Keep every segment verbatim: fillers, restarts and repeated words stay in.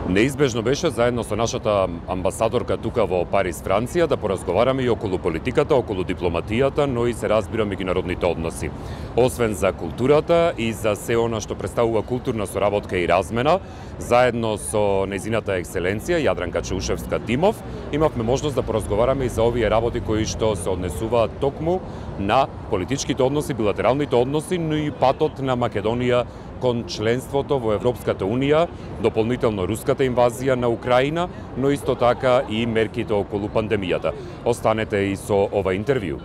Неизбежно беше заедно со нашата амбасадорка тука во Париз, Франција, да поразговараме и околу политиката, околу дипломатијата, но и се разбира меѓународните односи. Освен за културата и за се она што представува културна соработка и размена, заедно со нејзината екселенција Јадранка Чаушевска-Димов, имавме можност да поразговараме и за овие работи кои што се однесуваат токму на политичките односи, билатералните односи, но и патот на Македонија кон членството во Европската Унија, дополнително руската инвазија на Украина, но исто така и мерките околу пандемијата. Останете и со ова интервју.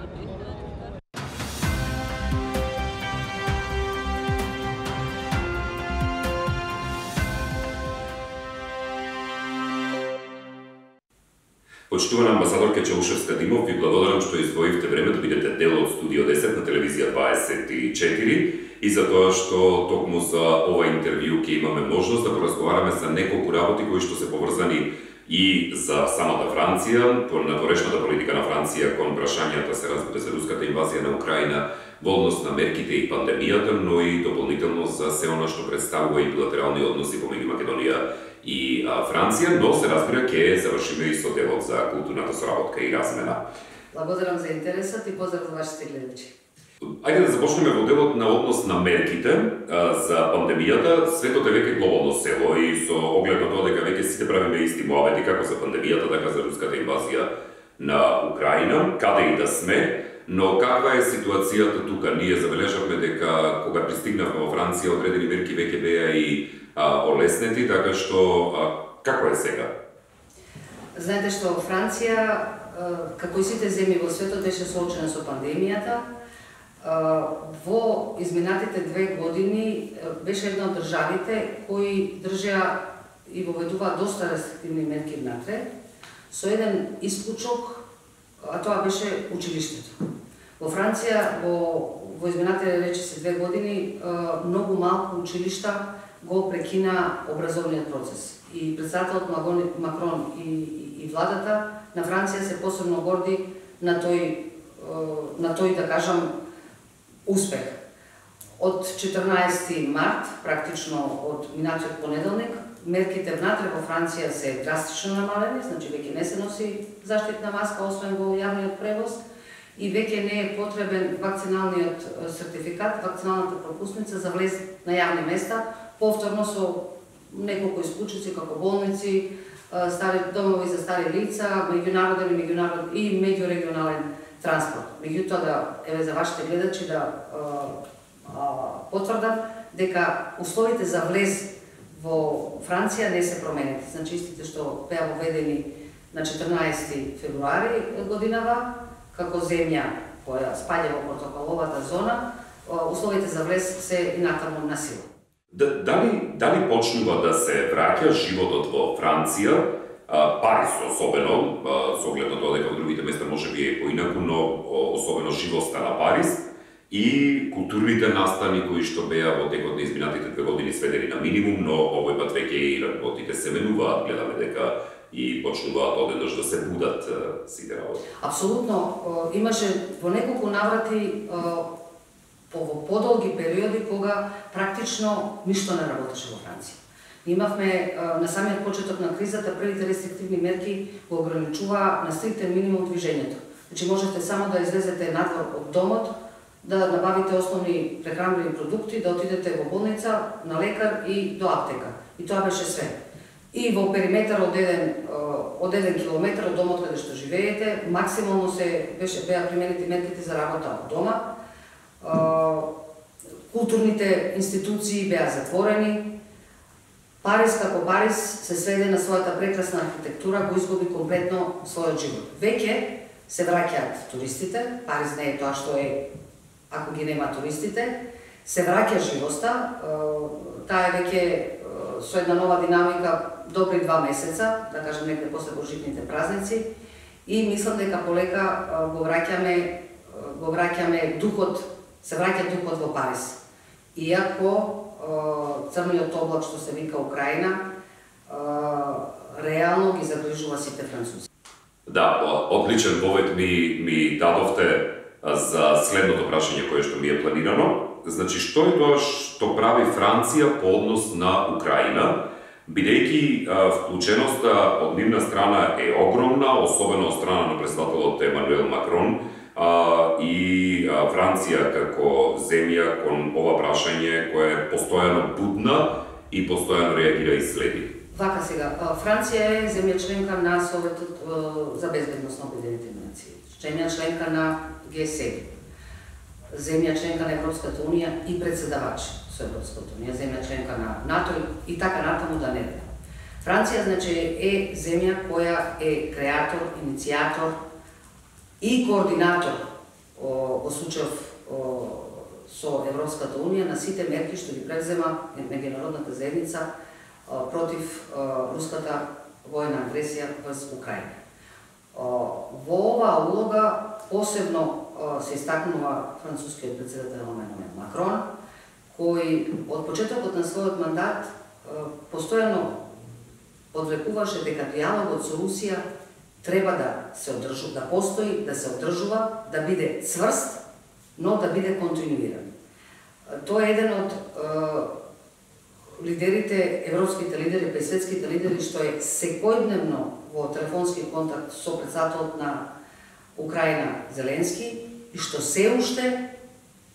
Почитувана амбасадорка Чаушевска-Димов, ви благодарам што издвоивте време да бидете дел од Студио десет на телевизија дваесет и четири и за тоа што токму за ова интервју ќе имаме можност да поразговараме за неколку работи кои што се поврзани и за самата Франција, на порешната политика на Франција кон прашањата се разбира за руската инвазија на Украина во однос на мерките и пандемијата, но и дополнително за се она што представува и билатерални односи помеѓу Македонија и а, Франција, но се разбира ќе завршиме и со делот за културната соработка и размена. Благодарам за интересот и поздрав за вашите гледачи. Ајде да започнеме во делот на однос на мерките а, за пандемијата. Светот е веќе глобално село и со оглед на тоа дека веќе сите правиме исти муавети како за пандемијата, така за руската инвазија на Украина, каде и да сме. Но каква е ситуацијата тука? Ние забележавме дека кога пристигнавме во Франција, одредени мерки веќе беа и а, олеснети, така што а, како е сега? Знаете што Франција, како и сите земји во светот, беше соочена со пандемијата. Во изминатите две години беше една од државите кои држеа и воведуваа доста рестриктивни мерки внатре, со еден исклучок, а тоа беше училиштето. Во Франција во, во изминатите речиси две години многу малку училишта го прекина образовниот процес. И председателот Макрон и, и, и владата на Франција се посебно горди на тој, на тој да кажам, успех. Од четрнаесети март, практично од минатиот понеделник, мерките внатре во Франција се драстично намалени, значи веќе не се носи заштитна маска, освен во јавниот превоз, и веќе не е потребен вакциналниот сертификат, вакциналната пропусница за влез на јавни места, повторно со неколку исклучици како болници, стари домови за стари лица, меѓународен и меѓународен и меѓурегионален транспорт. Меѓутоа да еве за вашите гледачи да а, а, потврдам дека условите за влез во Франција не се променети. Значи истите што беа воведени на четрнаесети февруари годинава како земја која спаѓа во протоколовата зона, условите за влез се и натаму на сила. Дали, дали почнува да се враќа животот во Франција, Париз особено, со оглед на тоа дека во другите места може би е поинаку, но особено живоста на Париз и културните настани кои што беа во текот на изминатите две години сведени на минимум, но овој пат веќе и работите се менуваат, гледаме дека и почнуваат одеднаш да се будат сите работи. Апсолутно, имаше во неколку наврати по подолги периоди кога практично ништо не работеше во Франција. Имавме на самиот почеток на кризата првите рестриктивни мерки го ограничуваа на стриктен минимум движењето. Значи можете само да излезете надвор од домот, да набавите основни прехранбени продукти, да отидете во болница, на лекар и до аптека. И тоа беше све. И во периметар од еден од еден километар од домот каде што живеете, максимално се беше беа применети мерките за работа од дома. Културните институции беа затворени. Париз како Париз се сведе на својата прекрасна архитектура, го изгуби комплетно својот живот. Веќе се враќаат туристите, Париз не е тоа што е ако ги нема туристите, се враќа живоста, таа е веќе со една нова динамика добри два месеца, да кажем некој после божитните празници, и мислам дека полека го враќаме го враќаме духот, се враќа духот во Париз. Иако црниот облак што се вика Украина, реално ги загрижува сите французи. Да, одличен повед ми, ми дадовте за следното прашање кое што ми е планирано. Значи, што е тоа што прави Франција по однос на Украина? Бидејќи вклученоста од нивна страна е огромна, особено од страна на председателот Емануел Макрон, и Франција како земја кон ова прашање која е постојано будна и постојано реагира и следи. Вака сега, Франција е земја членка на Советот за безбедност на Обединетите нации, земја членка на Г седум, земја членка на Европската унија и председавач со Европската унија, земја членка на НАТО и така натаму да не е. Франција, значи, е земја која е креатор, иницијатор и координатор во случајов со Европската унија на сите мерки што ги презема меѓународната заедница против руската војна агресија врз Украина. Во оваа улога посебно се истакнува францускиот председател Емануел Макрон, кој од почетокот на својот мандат постојано подвлекуваше дека диалогот со Русија треба да се одржува, да постои, да се одржува, да биде цврст, но да биде континуиран. Тоа е еден од лидерите, европските лидери, па и светските лидери, што е секојдневно во телефонски контакт со председателот на Украина Зеленски и што се уште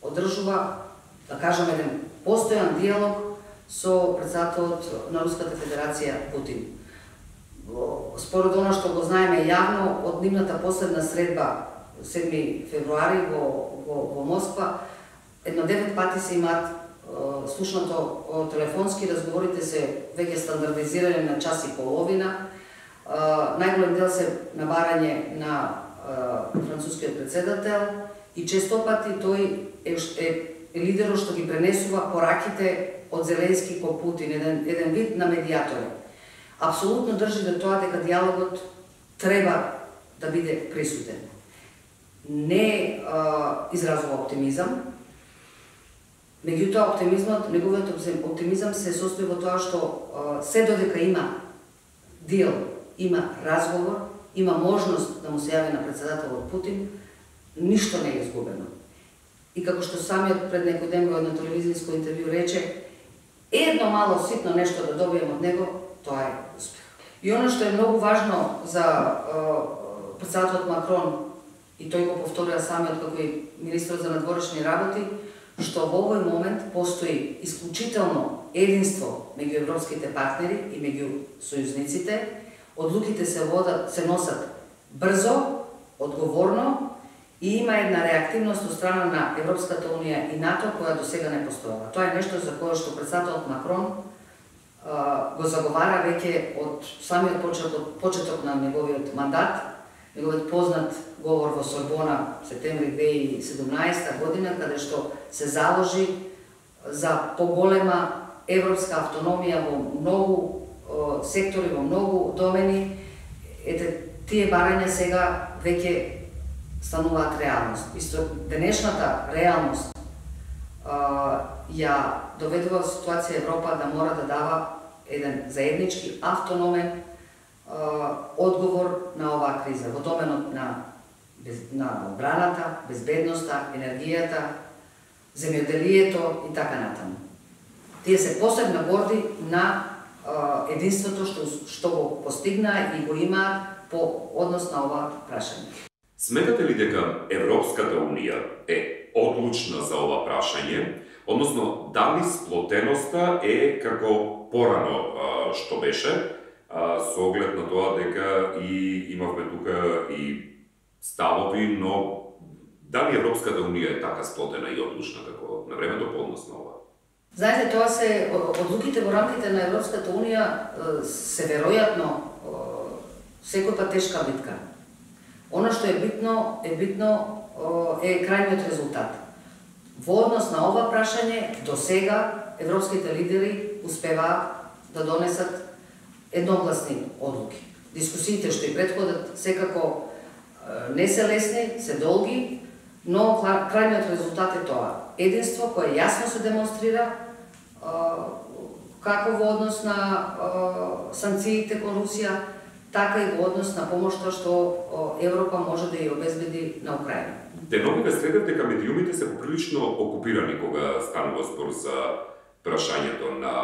одржува, да кажам, еден постојан диалог со председателот на Руската Федерација Путин. Според она што го знаеме јавно, од нивната последна средба седми февруари во, во, во Москва, едно девет пати се имаат слушнато телефонски, разговорите се веќе стандардизирани на час и половина. Најголем дел се набарање на францускиот председател и често пати тој е, е, е лидерот што ги пренесува пораките од Зеленски ко Путин, еден, еден вид на медијатор. Апсолутно држи до тоа дека диалогот треба да биде присутен. Не а, изразува оптимизам, меѓутоа оптимизмот, неговиот оптимизам се состои во тоа што а, се додека има дел, има разговор, има можност да му се јави на председателот Путин, ништо не е изгубено. И како што самиот пред некој ден во едно телевизиско интервју рече, едно мало ситно нешто да добием од него, тоа е успех. И оно што е многу важно за е, председателот Макрон, и тој го повторија самиот како и министрот за надворешни работи, што во овој момент постои исклучително единство меѓу европските партнери и меѓу сојузниците, одлуките се водат, се носат брзо, одговорно и има една реактивност од страна на Европската унија и НАТО која до сега не постоела. Тоа е нешто за кое што председателот Макрон а, го заговара веќе од самиот почеток, почеток на неговиот мандат, неговиот познат говор во Сорбона септември две илјади и седумнаесета година, каде што се заложи за поголема европска автономија во многу о, сектори, во многу домени. Ете, тие барања сега веќе стануваат реалност. Исто денешната реалност а, ја доведува ситуација Европа да мора да дава еден заеднички автономен а, одговор на оваа криза во доменот на без, на одбраната, безбедноста, енергијата, земјоделието и така натаму. Тие се посебно горди на а, единството што што го постигна и го имаат по однос на ова прашање. Сметате ли дека Европската унија е одлучна за ова прашање, односно дали сплотеноста е како порано што беше, со оглед на тоа дека и имавме тука и ставови, но дали Европската унија е така сплотена и одлучна како на времето по однос на ова? Знаете, тоа се одлуките во рамките на Европската унија се веројатно секој пат тешка битка. Оно што е битно, е битно е крајниот резултат. Во однос на ова прашање, до сега европските лидери успеваат да донесат едногласни одлуки. Дискусиите што и претходат секако не се лесни, се долги, но крајниот резултат е тоа. Единство кое јасно се демонстрира како во однос на санкциите кон Русија, така и во однос на помошта што Европа може да ја обезбеди на Украина. Деновиве следат дека медиумите се поприлично окупирани кога станува збор за прашањето на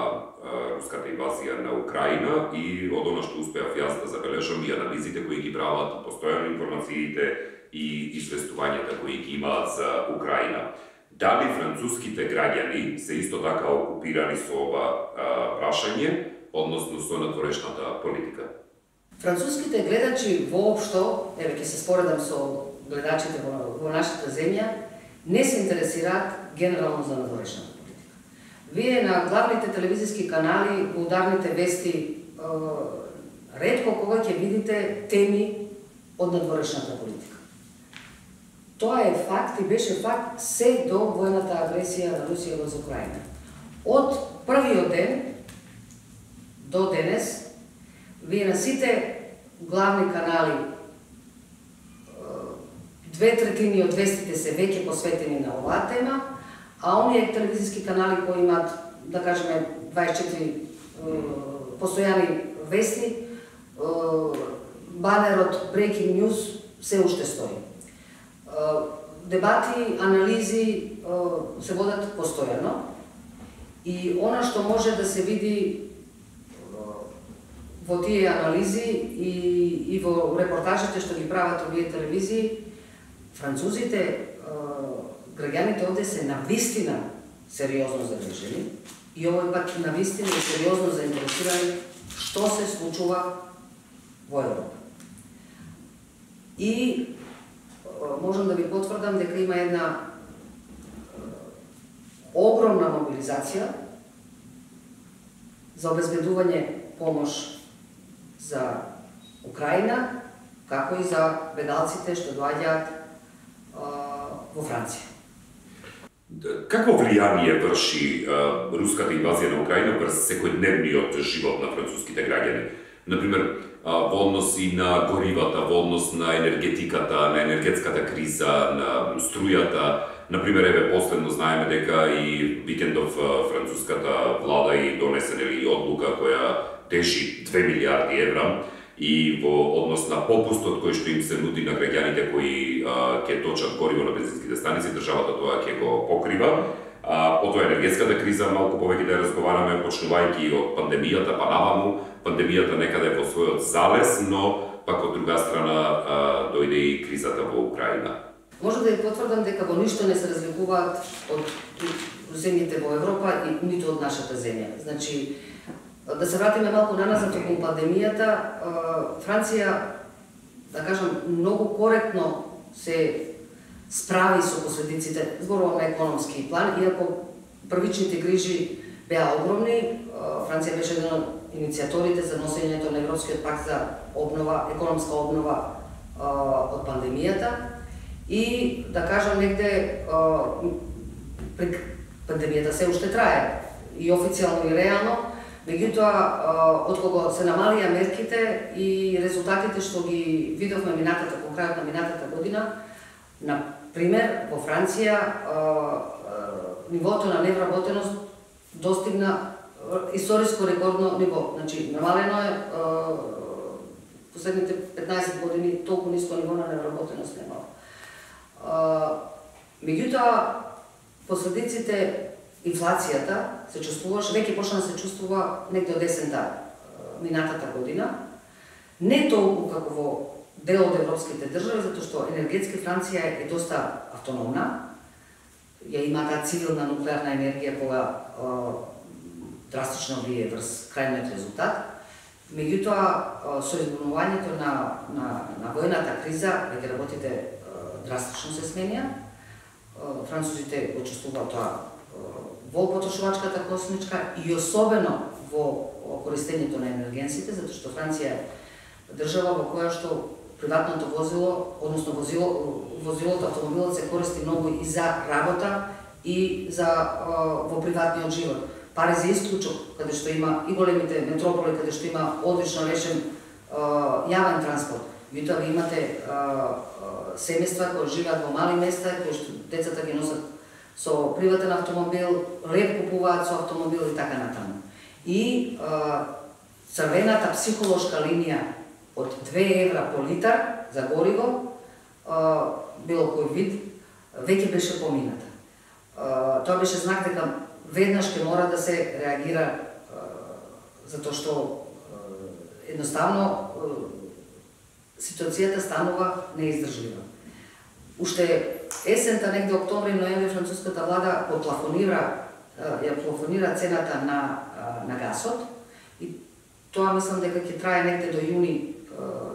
руската инвазија на Украина и од она што успеав јас да забележам и анализите кои ги прават, постојано информациите и известувањата кои ги имаат за Украина. Дали француските граѓани се исто така окупирани со ова прашање, односно со надворешната политика? Француските гледачи воопшто, еве ќе се споредам со гледачите во, во нашата земја, не се интересираат генерално за надворешната политика. Вие на главните телевизиски канали, во ударните вести, ретко кога ќе видите теми од надворешната политика. Тоа е факт и беше факт се до војната агресија на Русија во Украина. Од првиот ден до денес, вие на сите главни канали, две третини од вестите се веќе посветени на оваа тема, а оние телевизиски канали кои имаат, да кажеме, дваесет и четири постојани вести, банерот Breaking News се уште стои. Дебати, анализи се водат постојано и она што може да се види во тие анализи и, и во репортажите што ги прават овие телевизии, французите, граѓаните овде се навистина сериозно загрижени и овој пат навистина и сериозно заинтересирани што се случува во Европа. И можам да ви потврдам дека има една огромна мобилизација за обезбедување помош за Украина, како и за бедалците што доаѓаат во Франција. Какво влијание врши а, руската инвазија на Украина врз секојдневниот живот на француските граѓани? Например, во однос и на горивата, во однос на енергетиката, на енергетската криза, на струјата. Например, еве последно знаеме дека и викендов француската влада и донесе нели одлука која тежи две милиарди евра и во однос на попустот кој што им се нуди на граѓаните кои ќе точат гориво на бензинските станици, државата тоа ќе го покрива. А, потоа енергетската криза, малку повеќе да разговараме, почнувајќи од пандемијата па наваму, пандемијата некаде во својот залез, но пак од друга страна а, дојде и кризата во Украина. Може да ја потврдам дека во ништо не се разликуваат од земјите во Европа и ниту од нашата земја. Значи, да се вратиме малку наназад околу пандемијата, Франција, да кажам, многу коректно се справи со последиците, зборувам на економски план, иако првичните грижи беа огромни. Франција беше еден од иницијаторите за носењето на Европскиот пакт за обнова, економска обнова од пандемијата. И, да кажам, негде пандемијата се уште трае, и официјално и реално, меѓутоа, откога се намалија мерките и резултатите што ги видовме минатата, по крајот на минатата година, на пример, во Франција, нивото на невработеност достигна историско рекордно ниво. Значи, намалено е последните петнаесет години толку ниско ниво на невработеност немало. Меѓутоа, последиците, инфлацијата се чувствуваше, веќе почна да се чувствува негде од есента минатата година, не толку како во дел од европските држави, затоа што енергетски Франција е доста автономна, ја има таа цивилна нуклеарна енергија која драстично влие врз крајниот резултат. Меѓутоа, со избунувањето на, на, на војната криза, веќе работите драстично се сменија. Французите го чувствуваат тоа во потрошувачката космичка и особено во користењето на енергенсите, затоа што Франција е држава во која што приватното возило, односно возило, возилото, автомобилот се користи многу и за работа и за во приватниот живот. Пари за исклучок, каде што има и големите метрополи, каде што има одлично решен јавен транспорт. Меѓутоа ви имате семејства кои живеат во мали места, кои што децата ги носат со приватен автомобил, леп купуваат со автомобил и така натаму. И црвената психолошка линија од две евра по литар за гориво, било кој вид, веќе беше помината. Тоа беше знак дека веднаш ќе мора да се реагира затоа што едноставно ситуацијата станува неиздржлива. Уште есента, негде октомври, ноември, француската влада поплафонира, ја плафонира цената на, на гасот и тоа мислам дека ќе трае негде до јуни,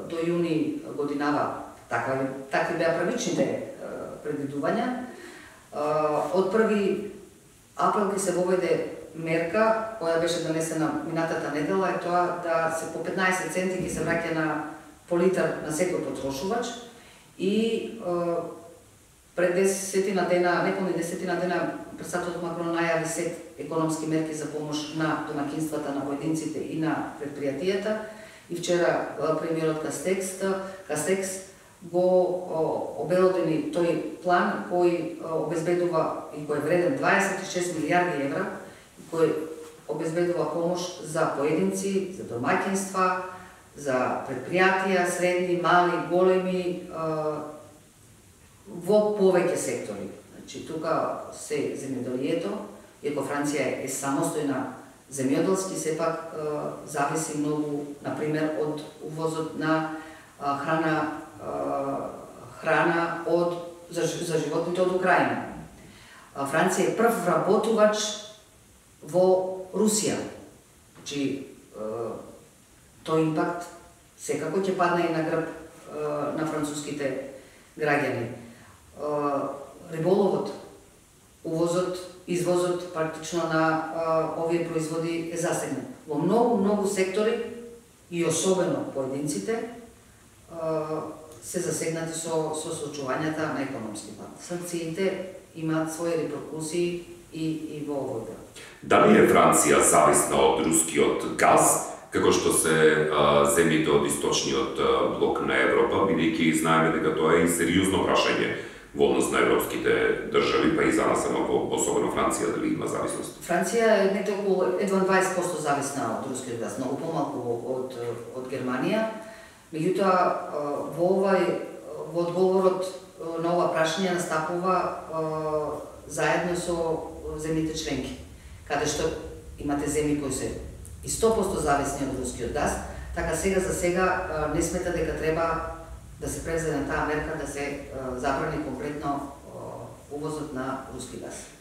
до јуни годинава. Така, такви беа правичните предвидувања. Од први април ќе се воведе мерка која беше донесена минатата недела, е тоа да се по петнаесет центи ќе се враќа на по литар на секој потрошувач и пред десетина дена, неполни десетина дена, председателот Макрон најави сет економски мерки за помош на домакинствата, на поединците и на предпријатијата. И вчера премиерот Кастекс, Кастекс го обелодени тој план кој обезбедува и кој е вреден дваесет и шест милијарди евра, кој обезбедува помош за поединци, за домаќинства, за предпријатија, средни, мали, големи, во повеќе сектори. Значи, тука се земјоделието, иако Франција е самостојна земјоделски, сепак зависи многу, например, од увозот на храна, храна од, за, за животните од Украина. Франција е прв вработувач во Русија. Значи, тој импакт секако ќе падне и на грб на француските граѓани. Риболовот, увозот, извозот практично на овие производи е засегнат. Во многу, многу сектори и особено поединците се засегнати со, со соочувањата на економски план. Санкциите имаат своји реперкусии и, и во овој дел. Дали е Франција зависна од рускиот газ, како што се а, земјите од источниот а, блок на Европа, бидејќи знаеме дека тоа е и сериозно прашање во однос на европските држави, па и за нас, ама особено Франција, дали има зависност? Франција е некаде околу едва дваесет проценти зависна од рускиот газ, многу помалку од, од Германија. Меѓутоа, во овај, во одговорот на ова прашање настапува заедно со земјите членки, каде што имате земји кои се и сто проценти зависни од рускиот газ, така сега за сега не смета дека треба да се превземе таа мерка да се забрани комплетно увозот на руски газ.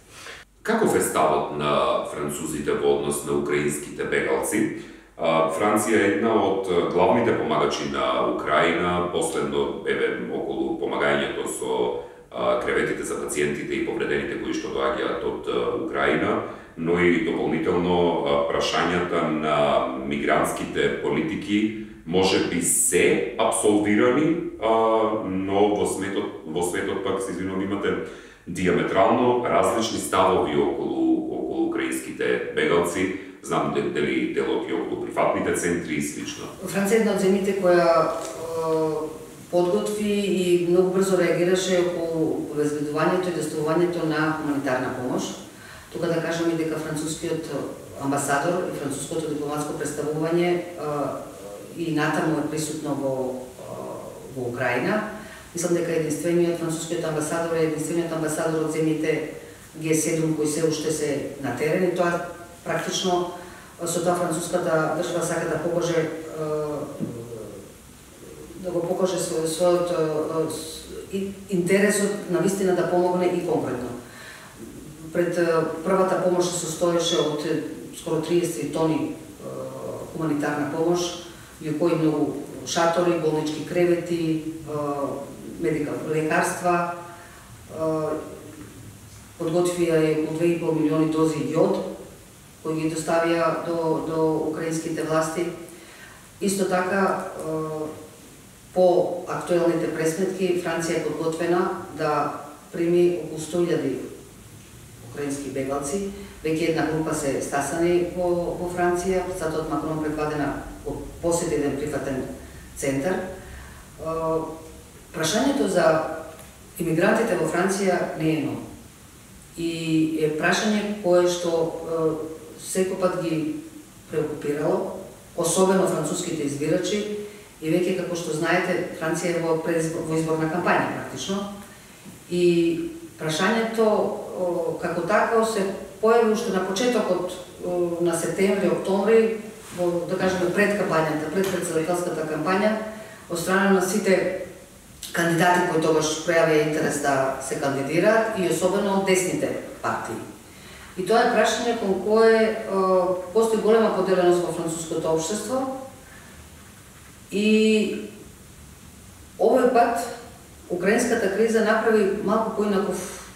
Каков е ставот на французите во однос на украинските бегалци? Франција е една од главните помагачи на Украина, последно еве околу помагањето со креветите за пациентите и повредените кои што доаѓаат од Украина, но и дополнително прашањата на мигрантските политики може би се абсолвирани, но во светот, во светот пак се извинувам, имате диаметрално различни ставови околу, околу украинските бегалци. Знам дали делот и околу прифатните центри и слично. Франција е една од земјите која подготви и многу брзо реагираше околу обезбедувањето и доставувањето на хуманитарна помош. Тука да кажам и дека францускиот амбасадор и француското дипломатско представување и натаму е присутно во, во Украина. Мислам дека единствениот францускиот амбасадор е единствениот амбасадор од земјите Г седум кои се уште се на терен и тоа практично со тоа француската држава сака да покаже да го покаже својот интересот на вистина да помогне и конкретно. Пред првата помош се состоеше од скоро триесет тони хуманитарна помош, во кои многу шатори, болнички кревети, медикал лекарства, подготвија и околу две и пол милиони дози јод кои ги доставија до, до украинските власти. Исто така, по актуелните пресметки, Франција е подготвена да прими околу сто илјади украински бегалци. Веќе една група се стасани во, во Франција, председателот Макрон предвадена посети еден прифатен центар. Прашањето за имигрантите во Франција не е ново. И е прашање кое што секој пат ги преокупирало, особено француските избирачи, и веќе, како што знаете, Франција е во, во изборна кампања практично. И прашањето како такво се појави уште на почетокот на септември, октомври, во, да кажеме, пред кампањата, пред председателската кампања, од страна на сите кандидати кои тогаш пројавија интерес да се кандидираат и особено од десните партии. И тоа е прашање кон кое постои голема поделеност во француското општество и овој пат украинската криза направи малку поинаков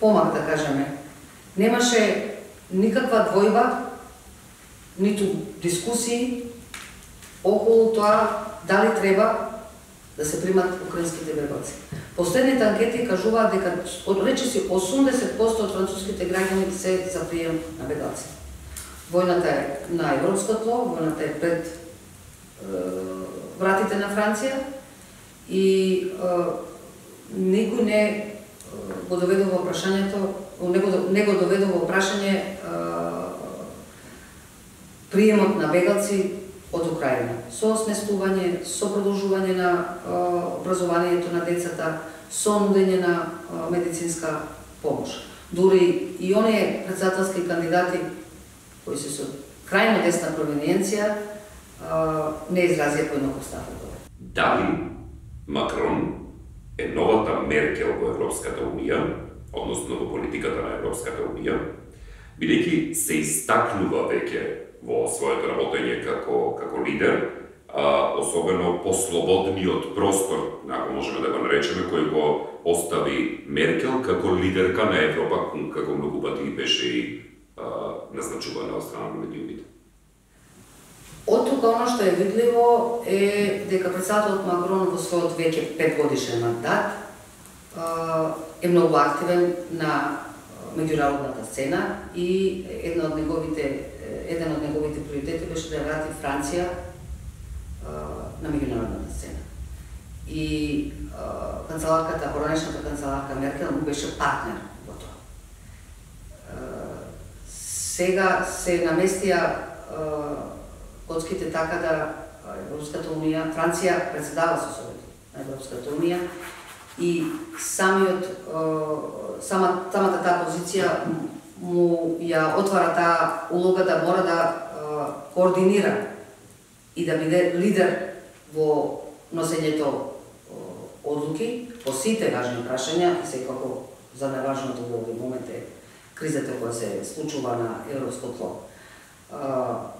помак, да кажеме. Немаше никаква двојба, ниту дискусии околу тоа дали треба да се примат украинските бегоци. Последните анкети кажуваат дека речиси осумдесет проценти од француските граѓани се за прием на бегоци. Војната е на европско тло, војната е пред е, вратите на Франција и е, никој не го доведува во прашањето, не го, не го доведува во прашање е, приемот на бегалци од Украина, со сместување, со продолжување на а, образованието на децата, со нудење на а, медицинска помош. Дури и оние председателски кандидати кои се со крајно десна провиненција а, не изразија поинаков став од тоа. Дали Макрон е новата Меркел во Европската Унија, односно во политиката на Европската Унија, бидејќи се истакнува веќе во своето работење како, како лидер, а, особено послободниот простор, ако можеме да го наречеме, кој го остави Меркел како лидерка на Европа, како многу пати беше и а, назначувана од страна на медиумите. Од тука оно што е видливо е дека председателот Макрон во својот веќе петгодишен мандат а, е многу активен на меѓународната сцена и една од неговите еден од неговите приоритети беше да врати Франција а, на меѓународната сцена. И а, канцеларката, поранешната канцеларка Меркел му беше партнер во тоа. А, сега се наместија коцките така да Европската Унија, Франција председава со Советот на Европската Унија и самиот, а, сама, самата таа позиција му ја отвара таа улога да мора да а, координира и да биде лидер во носењето одлуки по сите важни прашања и секако за најважното во овој момент е кризата која се случува на европско тло. А,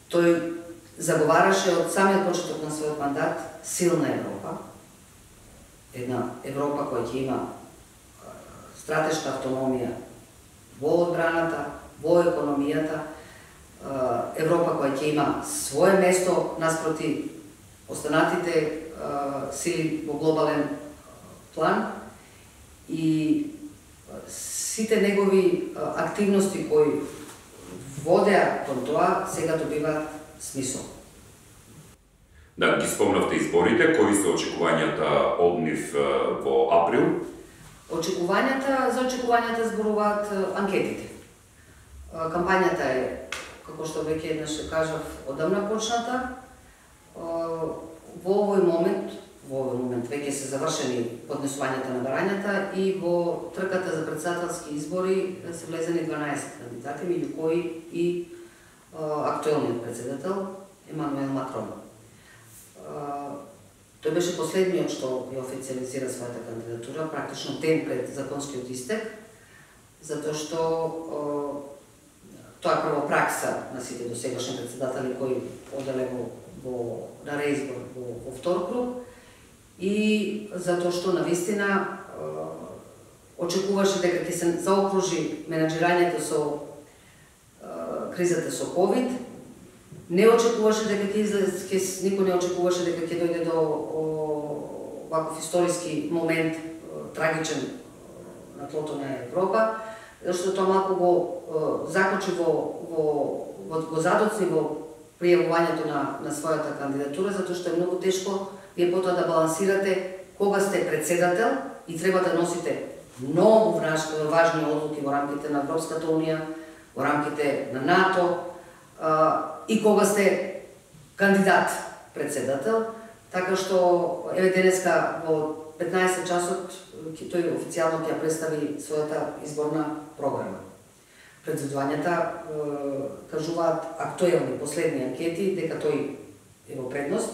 тој заговараше од самиот почеток на својот мандат силна Европа, една Европа која ќе има стратешка автономија во одбраната, во економијата, Европа која ќе има свое место наспроти останатите сили во глобален план и сите негови активности кои водеа кон тоа сега добиваат смисол. Да, ги спомнавте изборите, кои се очекувањата од нив во април? Очекувањата, за очекувањата зборуваат анкетите. Кампањата е, како што веќе еднаш кажав, одамна почната. Во овој момент, во овој момент веќе се завршени поднесувањата на барањата и во трката за председателски избори се влезени дванаесет кандидати, меѓу кои и актуелниот председател Емануел Макрон. Тој беше последниот што ја официализира својата кандидатура, практично ден пред законскиот истек, затоа што тоа е прво пракса на сите досегашни председатели кои оделе во, во на реизбор во, во втор круг и затоа што навистина очекуваше дека ќе се заокружи менаџирањето со кризата со ковид. Не очекуваше дека ќе излезе, никој не очекуваше дека ќе дојде до ваков историски момент, трагичен на тлото на Европа, зашто тоа малку го закочи во, во, во го задоцни во пријавувањето на, на својата кандидатура, затоа што е многу тешко вие потоа да балансирате кога сте председател и треба да носите многу важни одлуки во рамките на Европската Унија, во рамките на НАТО, и кога сте кандидат председател, така што еве денеска во петнаесет часот тој официјално ќе представи својата изборна програма. Председувањата кажуваат актуелни последни анкети дека тој е во предност,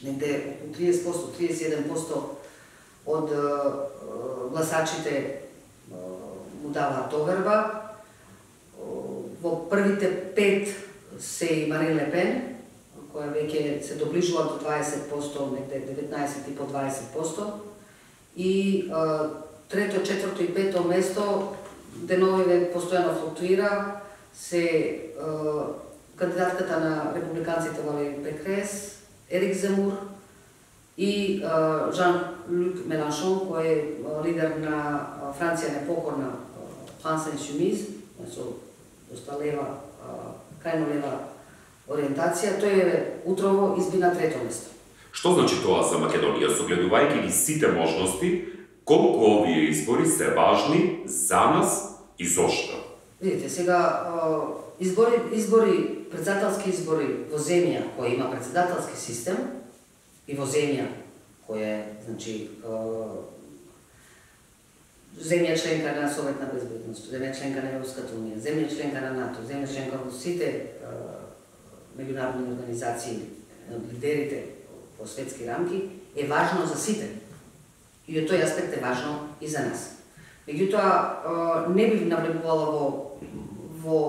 негде триесет проценти, триесет и еден проценти од гласачите му даваат доверба. Во првите пет се и Марин Ле Пен, која веќе се доближува до дваесет проценти, негде деветнаесет и по дваесет проценти. И трето, четврто и пето место деновиве постојано флуктуира, се кандидатката на републиканците Валери Пекрес, Ерик Земур и Жан-Люк Меланшон, кој е лидер на Франција непокорна France Insoumise, со доста лева, крајно лева ориентација, тој е утрово изби на трето место. Што значи тоа за Македонија, согледувајќи ги сите можности, колку овие избори се важни за нас и зошто? Видите, сега избори, избори, председателски избори во земја која има председателски систем и во земја која е, значи, земја членка на Советна безбедност, земја членка на Европската унија, земја членка на НАТО, земја членка во сите меѓународни организации, лидерите во светски рамки, е важно за сите. И од тој аспект е важно и за нас. Меѓутоа, не бив навлегувала во, во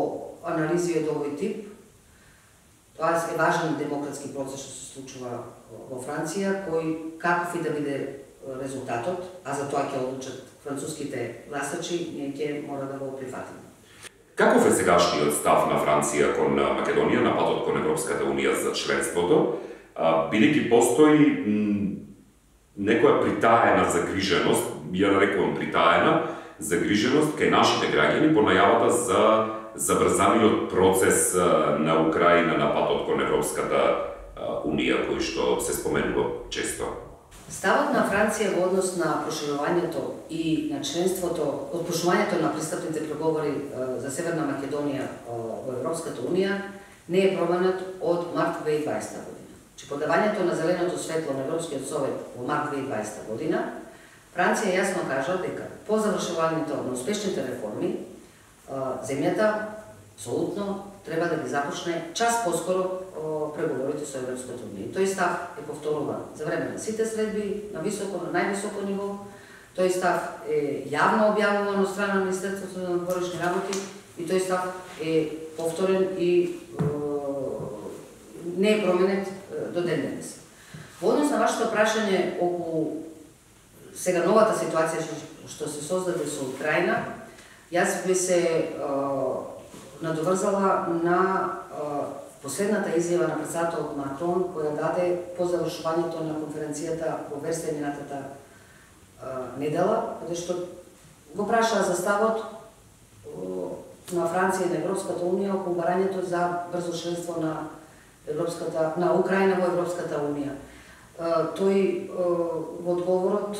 анализи од овој тип. Тоа е важен демократски процес што се случува во Франција, кој каков и да биде резултатот, а за тоа ќе одлучат француските гласачи, ние ќе мора да го прифатиме. Каков е сегашниот став на Франција кон Македонија на патот кон Европската унија за членството, бидејќи постои некоја притаена загриженост, ја нарекувам притаена загриженост кај нашите граѓани по најавата за забрзаниот процес на Украина на патот кон Европската унија, кој што се споменува често? Ставот на Франција во однос на проширувањето и на членството, од проширувањето на пристапните преговори за Северна Македонија во Европската унија не е променет од март две илјади и дваесета година. Че подавањето на зеленото светло на Европскиот совет во март две илјади и дваесета година, Франција јасно кажа дека по завршувањето на успешните реформи, земјата апсолутно треба да ги започне час поскоро преговорите со Европската унија. Тој став е повторуван за време на сите средби, на високо, на највисоко ниво. Тој став е јавно објавуван од страна на Министерството на външни работи и тој став е повторен и не е променет до ден денес. Во однос на вашето прашање околу сега новата ситуација што се создаде со Украина, јас би се надоврзала на последната изјава на председателот Макрон, која даде по завршувањето на конференцијата во Версај минатата недела, каде што го праша за ставот на Франција и на Европската унија околу барањето за брзо членство на Европската, на Украина во Европската унија. Тој во одговорот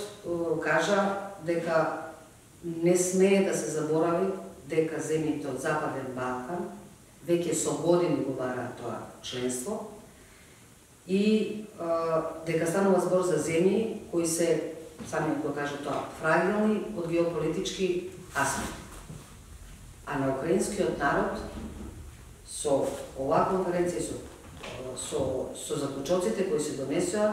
кажа дека не смее да се заборави дека земјите од Западен Балкан веќе со години го бараат тоа членство и дека станува збор за земји кои се, сами го кажа тоа, фрагилни од геополитички аспект. А на украинскиот народ со оваа конференција, со со, со заклучоците кои се донесоа,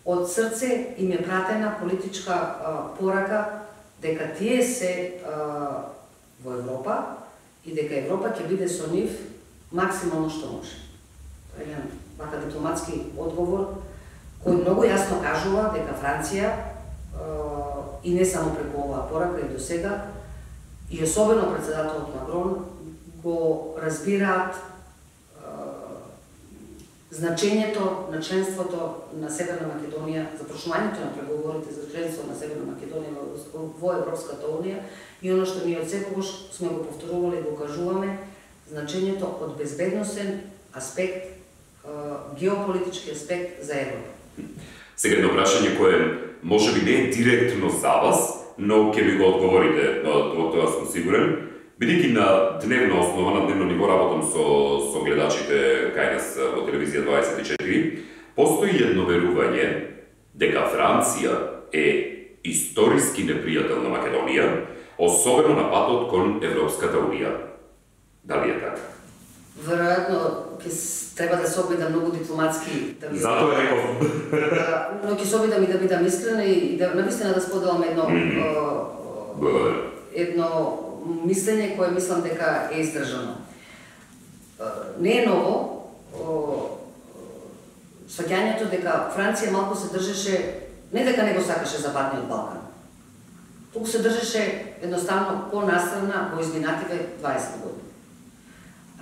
од срце им е пратена политичка а, порака дека тие се а, во Европа и дека Европа ќе биде со нив максимално што може. Тоа е еден вака дипломатски одговор кој многу јасно кажува дека Франција а, и не само преку оваа порака и до сега и особено председателот Макрон го разбираат значењето на членството на Северна Македонија, започнувањето на преговорите за членство на Северна Македонија во Европската унија и оно што ние од секогаш сме го повторувале и го кажуваме, значењето од безбедносен аспект, геополитички аспект за Европа. Сега едно прашање кое можеби не е директно за вас, но ќе ми го одговорите, во тоа сум сигурен. Бидејќи на дневна основа, на дневно ниво работам со, со гледачите кај нас во телевизија дваесет и четири, постои едно верување дека Франција е историски непријател на Македонија, особено на патот кон Европската Унија. Дали е така? Веројатно, ќе треба да се обидам многу дипломатски. Да Затоа реков. Да, но ќе се обидам и да бидам искрена и да навистина да споделам едно mm. едно мислење кое мислам дека е издржано. Не е ново сваќањето дека Франција малку се држеше, не дека не го сакаше Западниот Балкан, туку се држеше едноставно по-настрана во изминативе дваесет години.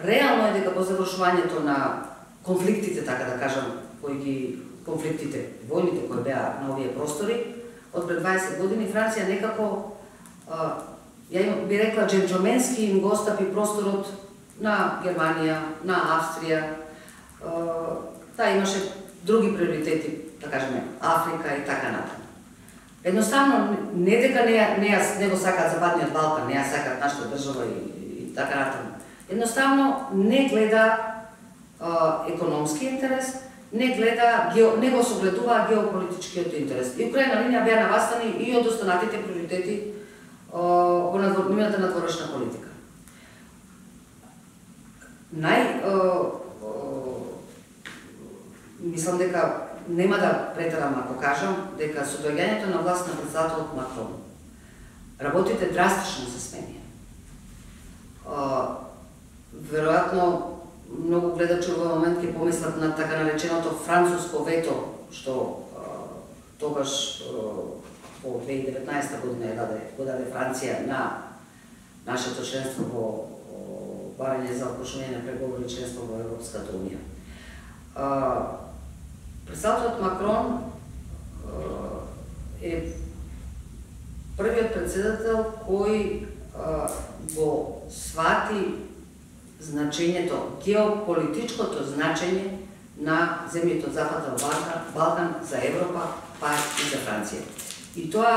Реално е дека по завршувањето на конфликтите, така да кажам, кои ги конфликтите, војните кои беа на овие простори, од пред дваесет години Франција некако, а, ја им, би рекла, джентлменски им го остапи просторот на Германија, на Австрија. Та имаше други приоритети, да кажеме, Африка и така натаму. Едноставно, не дека не, не, не го сакаат Западниот Балкан, не ја сакаат нашата држава и, и така натаму. Едноставно не гледа а, економски интерес, не гледа, гео, не го согледува геополитичкиот интерес. И украјна линија беа навастани и од останатите приоритети а, во нивната надворешна политика. Нај, а, а, мислам дека нема да претерам ако кажам дека со доаѓањето на власт на председателот Макрон работите драстично се сменија. Веројатно многу гледачи во момент ќе помислат на така нареченото француско вето што а, тогаш во две илјади и деветнаесета година ја даде, го даде Франција на нашето членство во барање за опошување на преговори членство во Европската Унија. Председателот Макрон е првиот председател кој а, го свати значењето, геополитичкото значење на земјите од Западен Балкан, Балкан за Европа, па и за Франција. И тоа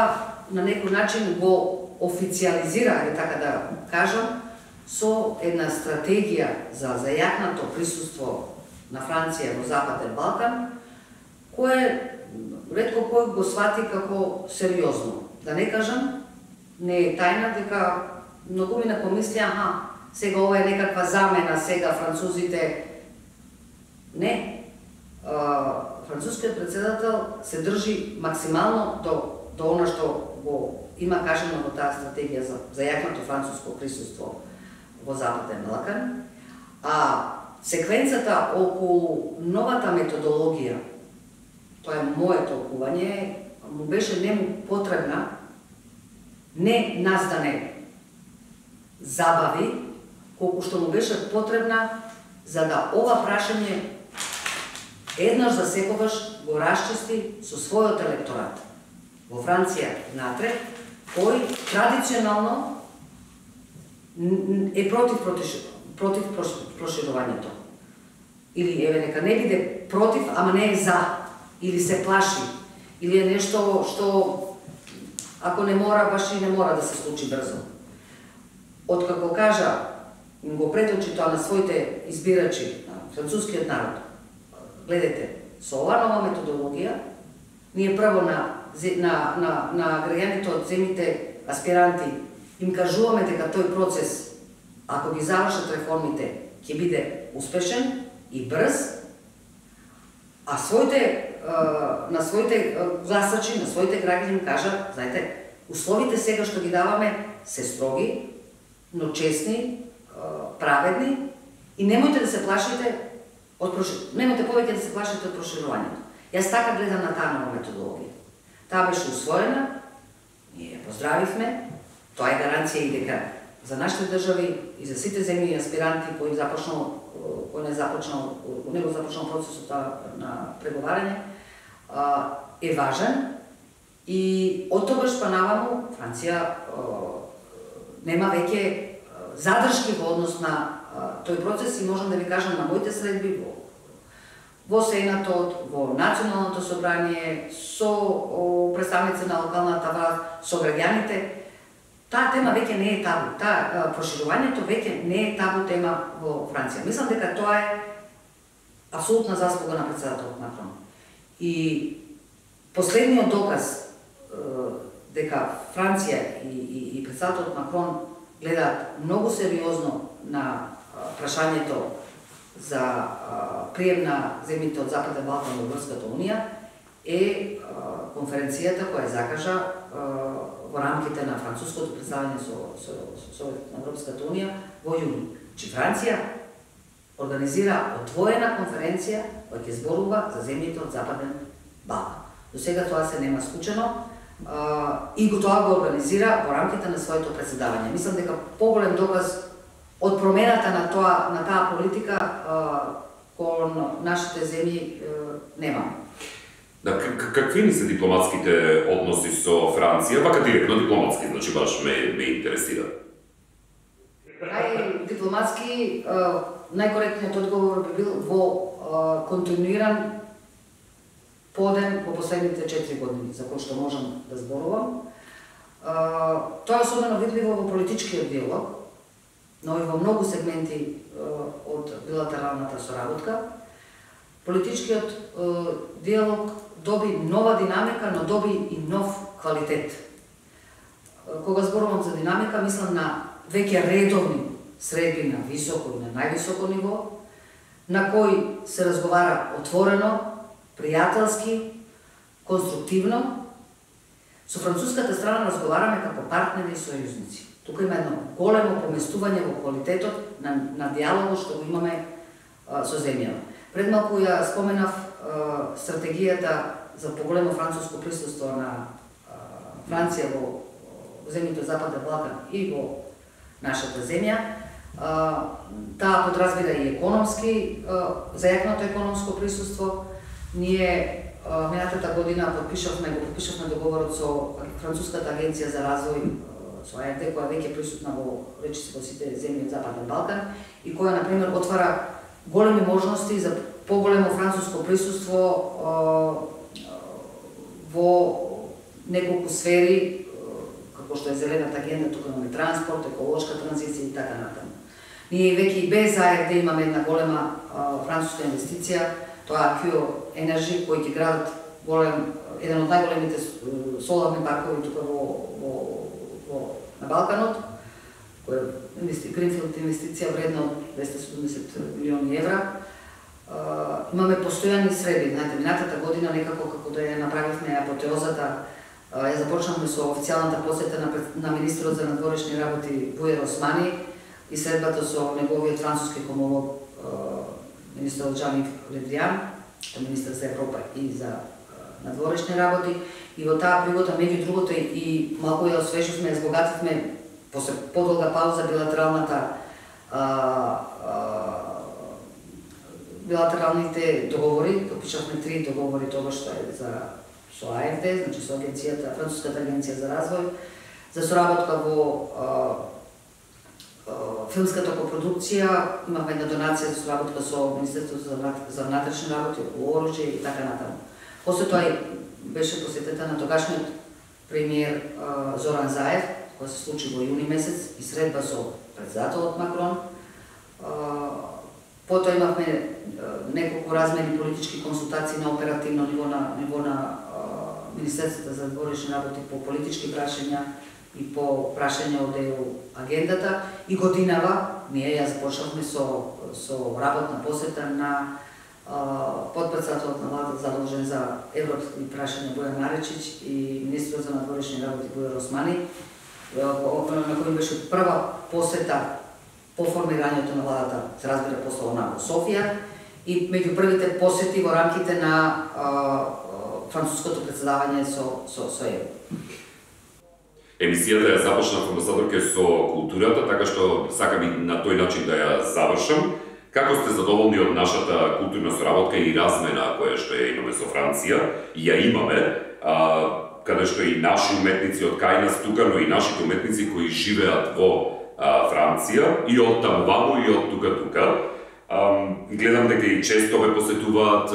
на некој начин го официализира, е така да кажам, со една стратегија за зајакнато присуство на Франција во Западен Балкан, кое ретко кој го свати како сериозно. Да не кажам, не е тајна дека многумина помисли, аха, сега ова е некаква замена, сега французите... Не. Францускиот председател се држи максимално до, до она што го има кажано во таа стратегија за зајакнато француско присуство во Западен Балкан, а секвенцата околу новата методологија, тоа е моје толкување, му беше нему потребна не нас да не забави, колку што му беше потребна за да ова прашање еднаш за секогаш го расчисти со својот електорат во Франција внатре, кој традиционално е против, против проширувањето. Или еве нека не биде против, ама не е за, или се плаши, или е нешто што ако не мора, баш и не мора да се случи брзо. Откако кажа, го преточи тоа на своите избирачи, на францускиот народ, гледате, со оваа нова методологија, ние прво на, на, на, на граѓаните од земите аспиранти им кажуваме дека тој процес, ако ги завршат реформите, ќе биде успешен и брз, а своите, на своите гласачи, на своите граѓани им кажа, знаете, условите сега што ги даваме се строги, но честни, праведни и немојте да се плашите од проширувањето. Немојте повеќе да се плашите од проширувањето. Јас така гледам на таа нова методологија. Таа беше усвоена, ние ја поздравивме, тоа е гаранција и дека за нашите држави и за сите земји и аспиранти кои започнал, кој не започнал, не го започнал процесот на преговарање, е важен и од тогаш па наваму Франција нема веќе задршки во однос на тој процес и можам да ви кажам на моите средби во, во Сенатот, во Националното собрание, со представници на локалната власт, со граѓаните, таа тема веќе не е табу. Таа проширувањето веќе не е табу тема во Франција. Мислам дека тоа е апсолутна заслуга на председателот Макрон. И последниот доказ дека Франција и, и, и председателот Макрон гледаат многу сериозно на прашањето за прием на земјите од Западен Балкан во Европската унија е конференцијата која закажа во рамките на француското представање со, со, со Совет на Европската унија во јуни. Че Франција организира отворена конференција која ќе зборува за земјите од Западен Балкан. До сега тоа се нема случено и го тоа го организира во рамките на своето председавање. Мислам дека поголем доказ од промената на тоа на таа политика кон нашите земји немаме. Да, какви ни се дипломатските односи со Франција, вака директно дипломатски, значи баш ме, ме интересира. Нај дипломатски, најкоректниот одговор би бил во континуиран подем во последните четири години, за кој што можам да зборувам. Тоа е особено видливо во политичкиот диалог, но и во многу сегменти од билатералната соработка. Политичкиот диалог доби нова динамика, но доби и нов квалитет. Кога зборувам за динамика, мислам на веќе редовни средби на високо и на највисоко ниво, на кои се разговара отворено, пријателски, конструктивно. Со француската страна разговараме како партнери и сојузници. Тука има едно големо поместување во квалитетот на, на диалогот што го имаме а, со земјава. Пред малку ја споменав а, стратегијата за поголемо француско присуство на а, Франција во, во земјите од Западен Балкан и во нашата земја. А, таа подразбира и економски, а, зајакното економско присуство. Ние а, минатата година подпишавме, го подпишавме договорот со Француската агенција за развој, со А Ф Д, која веќе присутна во речиси во сите земји од Западен Балкан и која, например, отвара големи можности за поголемо француско присуство во неколку сфери, како што е зелената агенда, тука имаме транспорт, еколошка транзиција и така натаму. Ние веќе и без А Ф Д имаме една голема француска инвестиција, тоа е Q Energy, кој ќе градат голем, еден од најголемите соларни паркови тука во, во, во на Балканот, која е Гринфилд инвестиција вредна од двесте и седумдесет милиони евра. Uh, имаме постојани среди. Знаете, минатата година некако како да ја направивме апотеозата, uh, ја започнавме со официјалната посета на, на министрот за надворешни работи Бујер Османи и средбата со неговиот француски комолог uh, министрот Жан-Ив Le Drian, министр за Европа и за uh, надворешни работи. И во таа пригода, меѓу другото, и малку ја освеживме, збогативме после подолга пауза билатералната uh, uh, билатералните договори, подпишавме три договори тоа што е за со А Ф Д, значи со агенцијата, Француската агенција за развој, за соработка во а, а, филмската копродукција, имавме една донација за соработка со Министерството за внатрешни работи, околу оружје и така натаму. После тоа беше посетета на тогашниот премиер а, Зоран Заев, која се случи во јуни месец и средба со председателот Макрон. А, Потоа имавме неколку размени политички консултации на оперативно ниво на ниво на Министерството за надворешни работи по политички прашања и по прашања од Е У агендата и годинава ние ја започнавме со со работна посета на подпредседателот на владата задолжен за европски прашања Бојан Маречич и министрот за надворешни работи Бујер Османи, на кој беше прва посета по формирањето на владата, се разбира после она во Софија и меѓу првите посети во рамките на а, а, француското председавање со со со Е У. Емисијата ја започнав, амбасадорке, со културата, така што сакам и на тој начин да ја завршам. Како сте задоволни од нашата културна соработка и размена која што ја имаме со Франција? И ја имаме, а, каде што и наши уметници од кај нас тука, но и нашите уметници кои живеат во Франција и од таму ваму и од тука-тука. Гледам дека и често ве посетуваат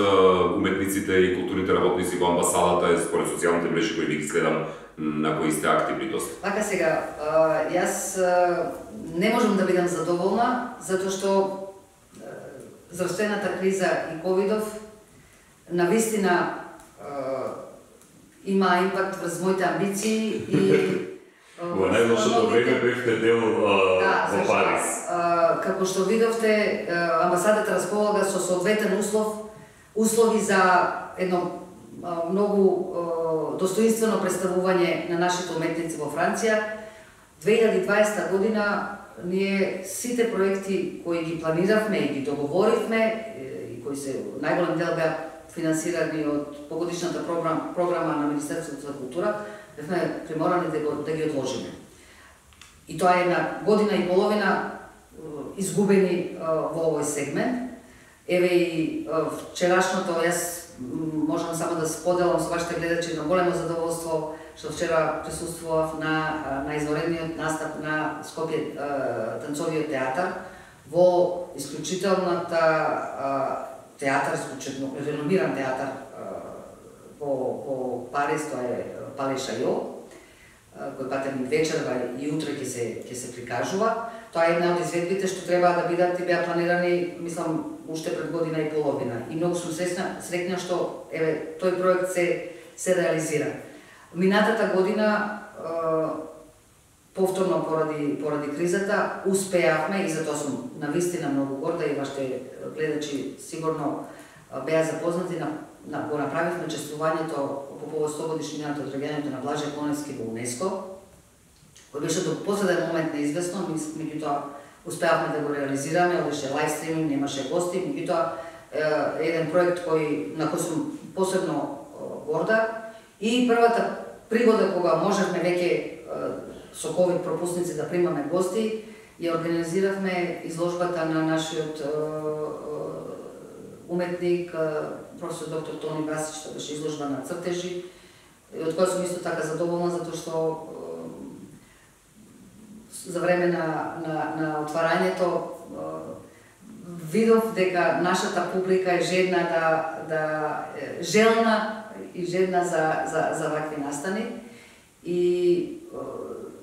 уметниците и културните работници во амбасадата, според социјалните мрежи кои ги следам на кои сте активни доста. Вака сега, јас не можам да бидам задоволна, затоа што здравствената криза и ковидов навистина има импакт врз моите амбиции и во најлошото време бевте дел да, во Париз. А, како што видовте, амбасадата располага со соодветен услов, услови за едно а, многу а, достоинствено представување на нашите уметници во Франција. две илјади и дваесета година ние сите проекти кои ги планиравме и ги договоривме и кои се најголем дел беа финансирани од погодишната програма, програма на Министерството за култура, бевме приморани да, го, да ги одложиме. И тоа е една година и половина изгубени во овој сегмент. Еве и вчерашното, јас можам само да споделам со вашите гледачи на големо задоволство што вчера присуствував на, на изворедниот настап на Скопје танцовиот театар во исклучителната театар, исклучително реномиран театар во, во Париз, тоа е Пале Шајо, кој патем вечерва и утре ќе се ќе се прикажува. Тоа е една од изведбите што треба да бидат и беа планирани, мислам, уште пред година и половина. И многу сум сресна, среќна што еве тој проект се се реализира. Минатата година повторно поради поради кризата успеавме и затоа сум навистина многу горда и вашите гледачи сигурно беа запознати на, на го направивме чествувањето по повод сто годишнината од раѓањето на Блаже Коневски во УНЕСКО, кој беше до последен момент неизвестно, меѓутоа успеавме да го реализираме, одеше лайв стриминг, немаше гости, меѓутоа еден проект кој на кој сум посебно горда и првата пригода кога можевме веќе со ковид пропусници да примаме гости, ја организиравме изложбата на нашиот уметник, професор доктор Тони Басич, тоа беше изложба на цртежи, од која сум исто така задоволна, затоа што за време на, на, на отварањето видов дека нашата публика е жедна да, да желна и жедна за, за, за вакви настани. И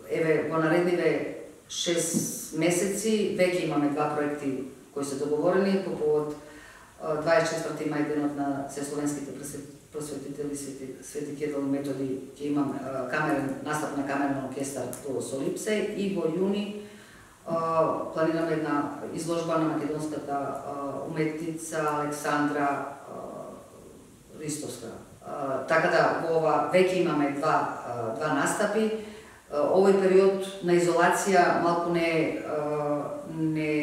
еве во наредниве шест месеци веќе имаме два проекти кои се договорени по повод дваесет и четврти мај, денот на сесловенските просветители Свети, Свети Кирил и Методи, ќе имам камерен настап на камерен оркестар во Солипсе и во јуни планираме една изложба на македонската уметница Александра Ристовска. Така да во ова веќе имаме два два настапи. Овој период на изолација малку не не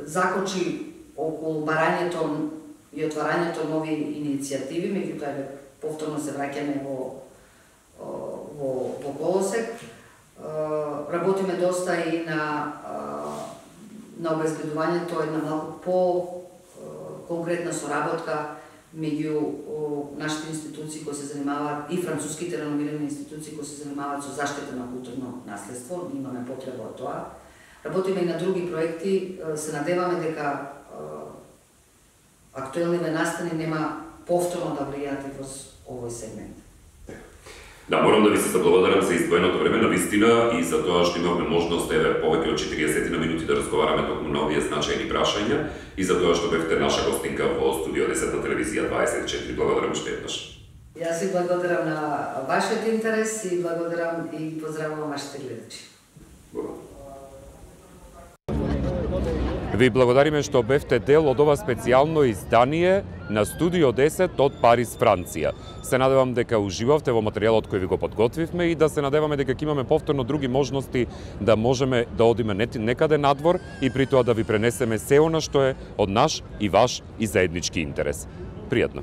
закочи околу барањето и отварањето нови иницијативи, меѓутоа повторно се враќаме во во во колосек. Работиме доста и на на обезбедувањето една малку по конкретна соработка меѓу нашите институции кои се занимаваат и француските реномирани институции кои се занимаваат со заштита на културно наследство. Имаме потреба од тоа. Работиме и на други проекти. Се надеваме дека актуелниве настани нема повторно да влијаат во овој сегмент. Да, морам да ви се заблагодарам за издвоеното време на вистина и за тоа што имавме можност еве повеќе од четириесет на минути да разговараме токму на овие значајни прашања и за тоа што бевте наша гостинка во студио десет на телевизија дваесет и четири. Благодарам уште еднаш. Јас ви благодарам на вашиот интерес и благодарам и поздравувам вашите гледачи. Ви благодариме што бевте дел од ова специјално издание на Студио десет од Париз, Франција. Се надевам дека уживавте во материјалот кој ви го подготвивме и да се надеваме дека ќе имаме повторно други можности да можеме да одиме некаде надвор и при тоа да ви пренесеме се она што е од наш и ваш и заеднички интерес. Пријатно.